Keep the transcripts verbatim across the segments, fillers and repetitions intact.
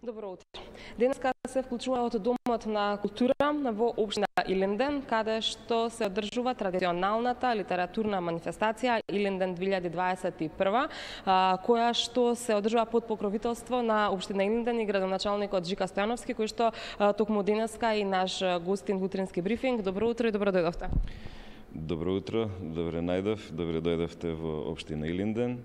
Добро утро. Денеска се вклучува од Домот на култура во општина Илинден, каде што се одржува традиционалната литературна манифестација Илинден две илјади дваесет и прва, која што се одржува под покровителство на општина Илинден и градоначалникот Жика Стојановски, кој што токму денеска и наш гостин во утрински брифинг. Добро утро и добро дојдовте. Добро утро, добре најдов, добре дојдовте во општина Илинден,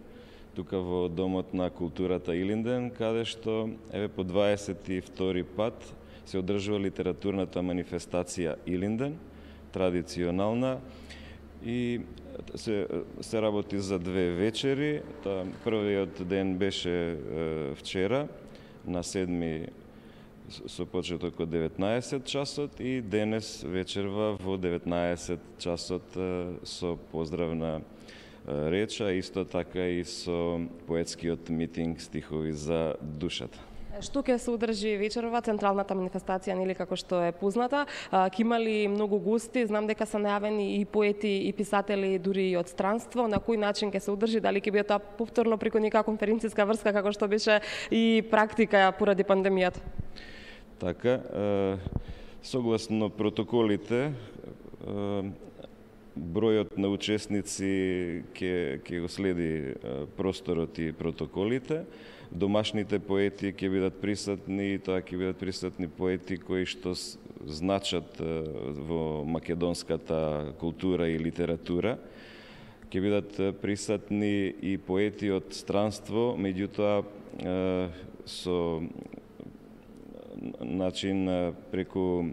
тука во Домот на културата Илинден, каде што еве по дваесет и втори пат се одржува литературната манифестација Илинден, традиционална, и се, се работи за две вечери. Та, првиот ден беше е, вчера, на седми со почеток од деветнаесет часот и денес вечерва во деветнаесет часот е, со поздравна реча, исто така и со поетскиот митинг стихови за душата. Што ќе се одржи вечерва централната манифестација, нели како што е позната? Ќе има ли многу гости? Знам дека се најавени и поети и писатели дури и од странство. На кој начин ќе се одржи? Дали ќе биде тоа повторно преку нека конференцијска врска како што беше и практика поради пандемијата? Така, согласно протоколите, бројот на учесници ќе ќе го следи просторот и протоколите. Домашните поети ќе бидат присутни и тоа ќе бидат присутни поети кои што значат во македонската култура и литература. Ќе бидат присутни и поети од странство, меѓутоа со начин преку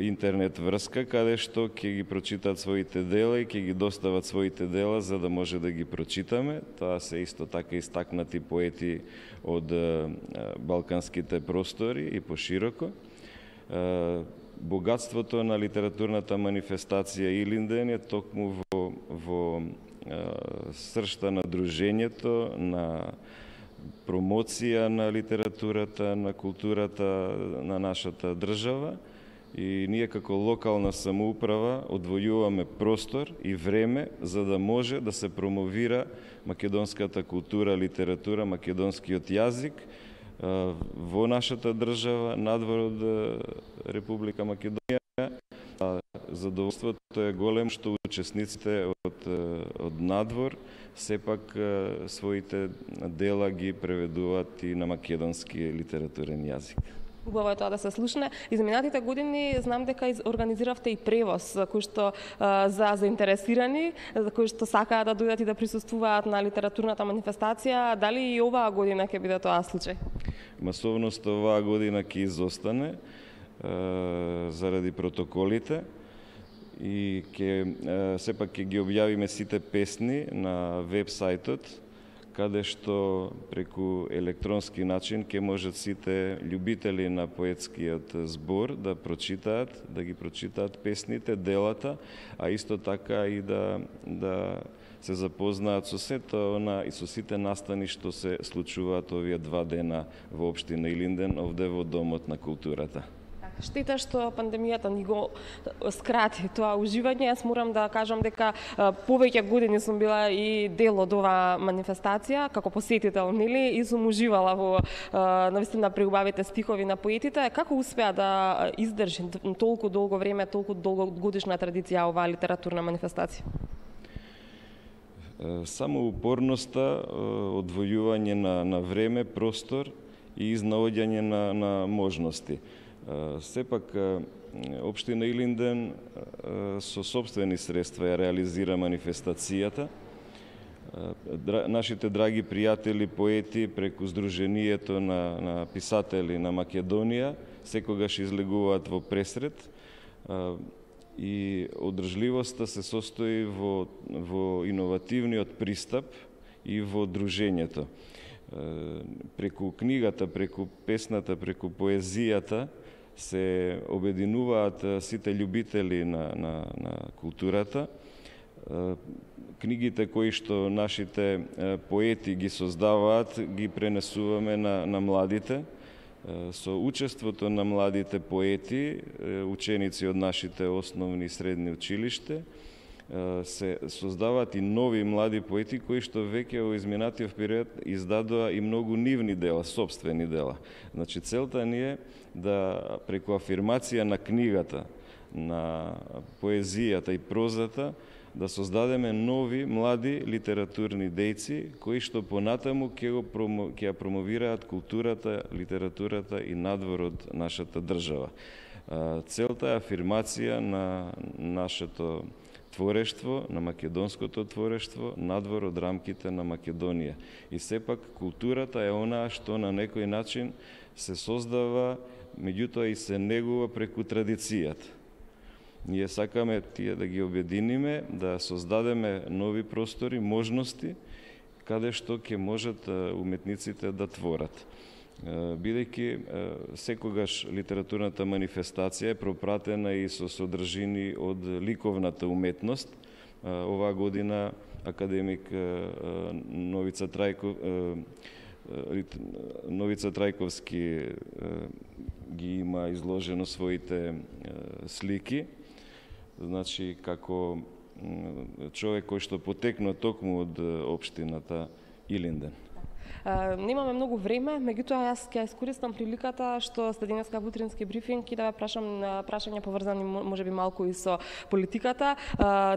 интернет врска, каде што ќе ги прочитаат своите дела и ќе ги достават своите дела за да може да ги прочитаме. Тоа се исто така истакнати поети од балканските простори и пошироко. Богатството на литературната манифестација Илинден е токму во, во сршта на дружењето, на промоција на литературата, на културата на нашата држава. И ние како локална самоуправа одвојуваме простор и време за да може да се промовира македонската култура, литература, македонскиот јазик во нашата држава, надвор од Република Македонија. Задоволството е голем што учесниците од, од надвор сепак своите дела ги преведуваат и на македонски литературен јазик. Убаво е тоа да се слушне. Изминатите години знам дека организиравте и превоз кој што а, за заинтересирани, за кои што сакаат да дојдат и да присуствуваат на литературната манифестација. Дали и оваа година ќе биде тоа случај? Масовноста оваа година ќе изостане а, заради протоколите и ќе сепак ќе ги објавиме сите песни на веб-сајтот, каде што преку електронски начин ќе можат сите љубители на поетскиот збор да прочитаат, да ги прочитаат песните, делата, а исто така и да да се запознаат со сето она и со сите настани што се случуваат овие два дена во општина Илинден, овде во Домот на културата. Штета што пандемијата ни го скрати тоа уживање. Јас морам да кажам дека повеќе години сум била и дел од оваа манифестација како посетител, нели, и сум уживала во навистина преубавите стихови на поетите. Како успеа да издржи толку долго време, толку долгогодишна традиција оваа литературна манифестација? Само упорноста, одвојување на, на време, простор и изнаоѓање на, на можности. Сепак, општина Илинден со собствени средства ја реализира манифестацијата. Нашите драги пријатели, поети, преку Сдруженијето на, на писатели на Македонија, секогаш излегуваат во пресред и одржливоста се состои во, во иновативниот пристап и во дружењето. Преку книгата, преку песната, преку поезијата се обединуваат сите љубители на, на, на културата. Книгите кои што нашите поети ги создаваат, ги пренесуваме на, на младите. Со учеството на младите поети, ученици од нашите основни и средни училиште, се создаваат и нови млади поети кои што веќе во изминатиот период издадоа и многу нивни дела, сопствени дела. Значи целта ни е да преку афирмација на книгата, на поезијата и прозата, да создадеме нови, млади литературни дејци, кои што понатаму ќе го промо, ќе ја промовираат културата, литературата и надвор од нашата држава. Целта е афирмација на нашето творештво, на македонското творештво, надвор од рамките на Македонија. И сепак културата е онаа што на некој начин се создава, меѓутоа и се негува преку традицијата. Ние сакаме тие да ги обединиме, да создадеме нови простори, можности, каде што ќе можат уметниците да творат. Бидејќи секогаш литературната манифестација е пропратена и со содржини од ликовната уметност. Оваа година академик Новица Трајков, Новица Трајковски ги има изложено своите слики. Значи, како човек кој што потекнува токму од општината Илинден. Немаме многу време, меѓутоа јас ќе искористам приликата што сте денеска во утрински брифинг и да ве прашам прашања поврзани можеби малку и со политиката.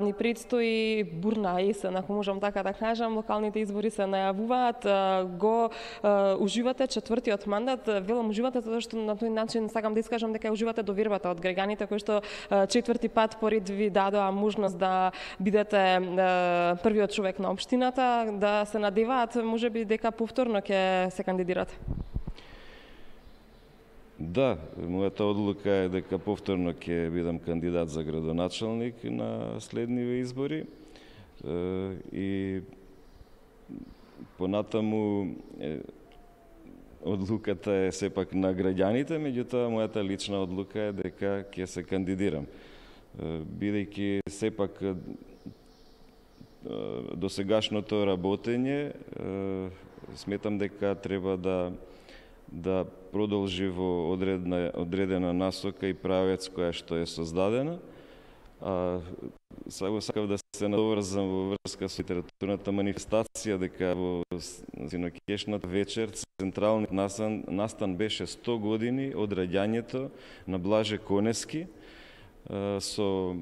Ни предстои бурна есен, ако можам така да кажам, локалните избори се најавуваат. Го уживате четвртиот мандат, велам уживате затоа што на тој начин сакам да искажам дека уживате довербата од граѓаните кои што четврти пат поред ви дадоа можност да бидете првиот човек на општината, да се надеваат можеби дека повторно ќе се кандидирате? Да, мојата одлука е дека повторно ќе бидам кандидат за градоначалник на следниве избори и понатаму одлуката е сепак на граѓаните, меѓутоа мојата лична одлука е дека ќе се кандидирам. Бидејќи сепак досегашното работење сметам дека треба да да продолжи во одредна одредена насока и правец која што е создадена. А само сакав да се надоврзам во врска со литературната манифестација дека во синоќешната вечер централниот настан, настан беше сто години од раѓањето на Блаже Конески, со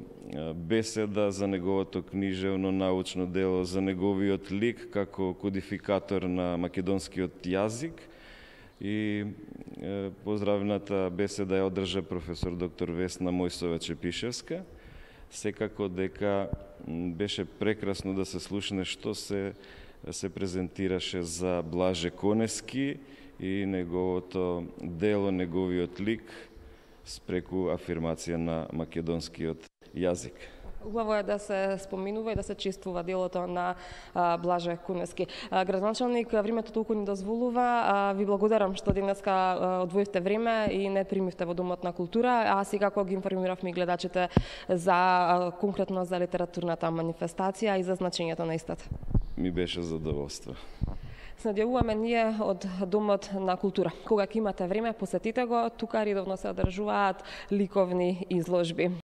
беседа за неговото книжевно научно дело, за неговиот лик како кодификатор на македонскиот јазик. И поздравната беседа ја одржа професор доктор Весна Мојсова-Чепишевска. Секако дека беше прекрасно да се слушне што се се презентираше за Блаже Конески и неговото дело, неговиот лик спреку афирмација на македонскиот јазик. Убаво е да се споминува и да се чествува делото на а, Блаже Конески. Градоначалник, времето толку ни дозволува. А, ви благодарам што денеска одвоивте време и не примивте во Домот на култура, а секако ги информиравме гледачите за а, конкретно за литературната манифестација и за значењето на истата. Ми беше задоволство. Се надјавуваме ние од Домот на култура. Кога ќе имате време, посетите го, тука редовно се одржуваат ликовни изложби.